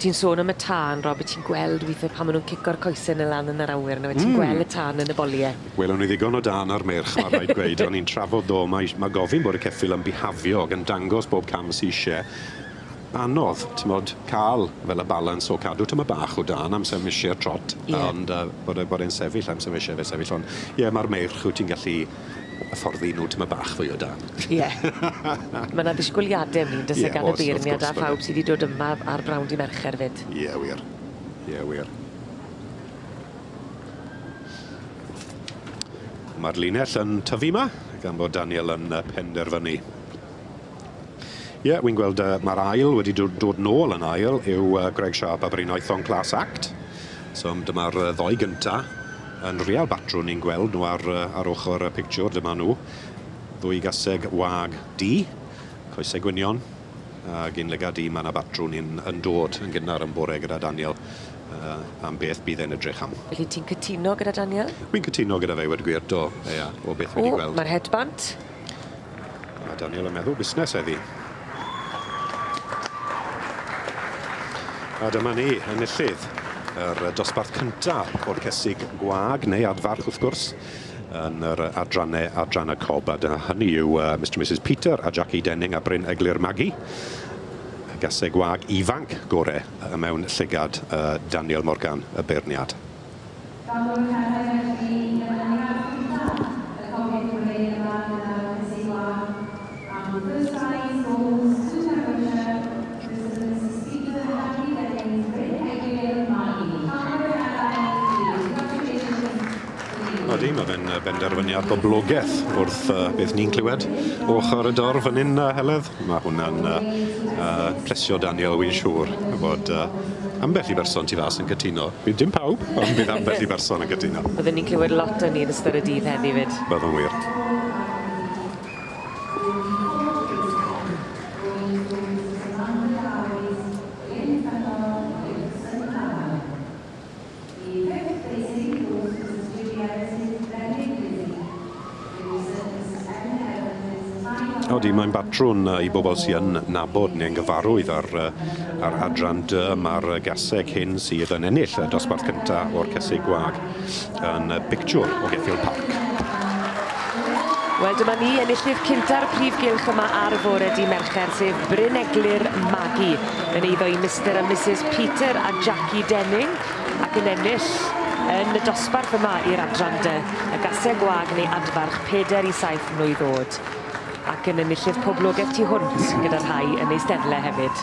O ti'n sôn am y tân, Rob, ti'n gweld withe pan ma' nw'n cico'r coese 'ny lan yn yr awyr on'd yfe ti'n gweld y tân yn y bolie. Welwn ni ddigon o dân ar meirch, ma' raid gweud. O'n i'n trafod ddo, mae ma' gofyn bod y ceffyl yn bihafio ag yn dangos bob cam sy isie. Anodd, t'mod, ca'l fel y balans o cadw tymed bach o dân am sef isie'r trot. Ie. Ond yy bod e bod e'n sefyll am sef isie fe sefyll on' ie ma'r meirch wyt ti'n gallu hyfforddi nw tymed bach fwy o dân. Ie. Ma' 'na ddisgwyliade am 'ny on'd o's e gan y beirniad a phawb sy 'di dod yma ar brawn dy' Mercher 'fyd. Ie wir. Ie wir. Ma'r linell yn tyfu 'ma, gan bod Daniel yn penderfynu. Ie, wi'n gweld ma'r ail wedi dod dod nôl yn ail yw Greg Sharp a Bryn Oethon Class Act. So dyma'r ddoi gynta yn real batrwn ni'n gweld nhw ar ar ochr y pictiwr, dyma nhw. Ddwy gaseg wag du, coesau gwynion, ag un lygad du, ma' 'na batrwn yn yn dod yn gynnar yn bore gyda Daniel am beth bydd e'n edrych am. Felly ti'n cytuno gyda Daniel? Wi'n cytuno gyda fe i gwir, do, ie, o beth fi 'di gweld. Ma'r headband. Ma' Daniel yn meddwl busnes heddi. A dyma ni, enillydd yr dosbarth cynta o'r cesig gwag, neu adfarch wrth gwrs, yn yr adrannau adran y cob. A dyna hynny yw Mr and Mrs Peter a Jackie Denning a Bryn Eglur Maggie. Y gaseg gwag ifanc gore mewn llygad Daniel Morgan, y beirniad. Odi, ma' fe'n benderfyniad boblogeth wrth beth ni'n clywed o ochr y dorf fan 'yn Heledd. Ma' hwnna'n plesio Daniel, wi'n siŵr, bod ambell i berson tu fas yn cytuno. Bydd dim pawb, ond bydd ambell i berson yn cytuno. Byddwn ni'n clywed lot o ni yn ystod y dydd heddi 'fyd. Byddwn wir. Odi, mae'n batrwn i bobl sy yn nabod neu'n gyfarwydd ar ar adran dy, ma'r gaseg hyn sydd yn ennill y dosbarth cynta o'r cesig gwag yn bictiwr o Geffyl Parc. Wel, dyma ni enillydd cynta'r prif gylch yma ar fore dy' Mercher, sef Bryn Eglur Magi, yn eiddo i Mr a Mrs Peter a Jackie Denning, ac yn ennill yn y dosbarth yma i'r adran dy, y gaseg gwag neu adfarch 4 i 7 mlwydd o'd. Ac yn enillydd poblogeth tu hwnt gyda rhai yn eisteddle hefyd.